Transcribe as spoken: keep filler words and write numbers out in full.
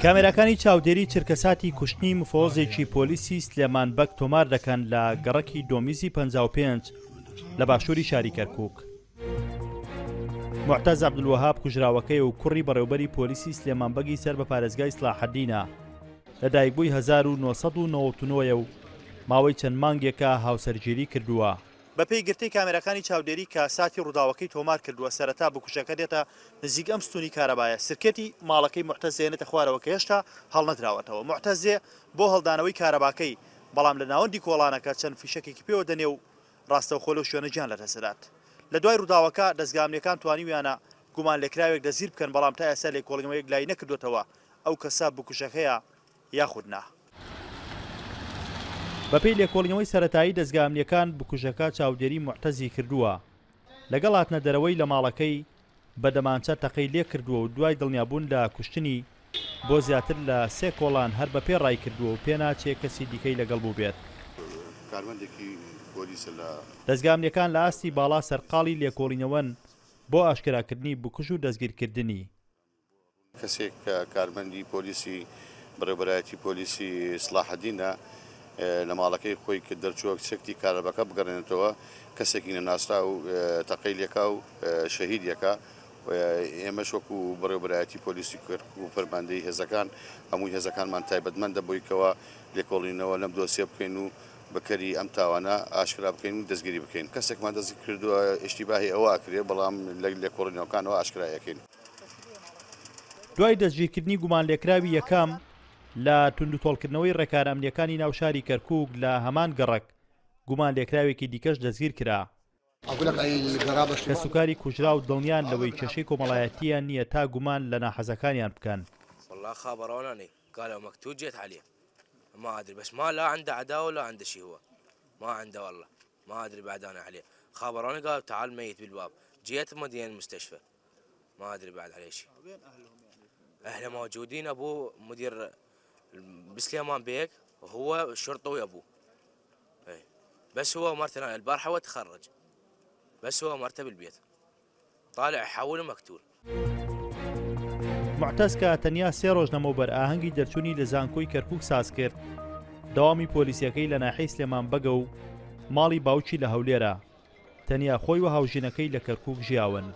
کامێراکانی چاودێری چرکەساتی کوشتنی مفەوەزێکی پۆلیسی سلێمان بەگ تۆمار دەکەن لە گەڕەکی دۆمیزی پەنجا و پێنج لە باشووری شاری کەرکووک. موعتەز عەبدولوەهاب کوژراوەکەی و کوڕی بەڕێوبەری پۆلیسی سلێمان بەگی سەر بە پارێزگای سڵاحەدینە لە دایکبووی هەزار و نۆ سەد و نەوەد و نۆ و ماوەی چەند مانگێکە هاوسەرگیری کردووە. بەپێی گرتەی کامێراکانی چاودێری کە ساتی ڕووداوەکەی تۆمار کردووە، سەرەتا بکوژەکە دێتە نزیک ئەم ستونی کارەبایە، سرکێتی ماڵەکەی موعتەز دێنێتە خوارەوە کە هێشتا هەڵنەدراوەتەوە. موعتەز دێ بۆ هەڵدانەوەی کارەباکەی، بەڵام لە ناوەندی کۆڵانەکە چەند فیشەکێکی پێوە دەنێ و ڕاستەوخۆ لەو شوێنە گیان لەدەست دەدات. لە دوای ڕووداوەکە دەزگا ئەمنییەکان توانیویانە گومانلێکراوێک دەستگیر بکەن، بەڵام تا ئێستا لێکۆڵینەوە یەکلایی نەکردووەتەوە ئەو کەسە بکوژەکەیە یاخود نا. بەپێی لێکۆڵینەوەی سەرەتایی دەزگا ئەمنییەکان بکوژەکە چاودێری موعتەزی کردووە، لەگەڵ هاتنە دەرەوەی لە ماڵەکەی بە دەمانچە تەقەی لێ کردووە و دوای دڵنیابوون لە کوشتنی بۆ زیاتر لە سێ کۆڵان هەر بەپێ ڕای کردووە و پێناچێ کەسی دیکەی لەگەڵ بووبێت. دەزگا ئەمنییەکان لە ئاستی باڵا سەرقاڵی لێکۆڵینەوەن بۆ ئاشکراکردنی بکوژ و دەستگیرکردنی. کەسێک کە کارمەندی پۆلیسی بەڕێوەبەرایەتی پۆلیسی سڵاحەدینە لە ماڵەکەی خۆی کە دەرچووە چەکتی کارەباکە بگەڕێنێتەوە، کەسێکی نەناسرا و تەقەی لێکا و شەهید یەکا. ئێمەش وەکو بەڕێوەبەرایەتی پۆلیسی کەرکوک و فەرماندەی هێزەکان هەمووی هێزەکانمان تایبەتمەندە بۆی کەوا لێکۆڵینەوە لەم دۆسیە بکەین و بکەری ئەم تاوانە ئاشکرا بکەین و دەستگیری بکەین. کەسێکمان دەستگیر کردووە ئیشتیباهی ئەوە ئەکرێ، بەڵام لە لێکۆڵینەوەکانەوە ئاشکرا ئەکەین. دوای دەستگیرکردنی گومانلێکراوی یەکەم لە توندوتۆڵکردنەوەی ڕێکارە ئەمنییەکانی ناو شاری کەرکوک لە هەمان گەڕەک گومانلێکراوێکی دیکەش دەستگیر کرا. کەسوکاری کوژراو دڵنیان لەوەی کێشەی کۆمەڵایەتییان نییە تا گومان لە ناحەزەکانیان بکەن. والله خابروناني قالوا مقتول جيت عليه ما ادري بس ما لا عنده عداوه ولا عنده شيء، هو ما عنده والله ما ادري بعد انا عليه. خابروني قالوا تعال ميت بالباب، جيت مدينه المستشفى ما ادري بعد عليه شيء. اهله موجودين، ابوه مدير بسليمان بيك وهو شرطي وابوه، بس هو مرته البارحه هو تخرج، بس هو مرته بالبيت طالع حول مقتول. موعتەز کە تەنیا سێ ڕۆژ لەمەوبەر ئاهەنگی دەرچوونی لە زانکۆی کەرکوک ساز کرد، دەوامی پۆلیسیەکەی لە ناحیەی سلێمان بەگە و ماڵی باوکی لە هەولێرە، تەنیا خۆی و هاوژینەکەی لە کەرکوک ژیاون.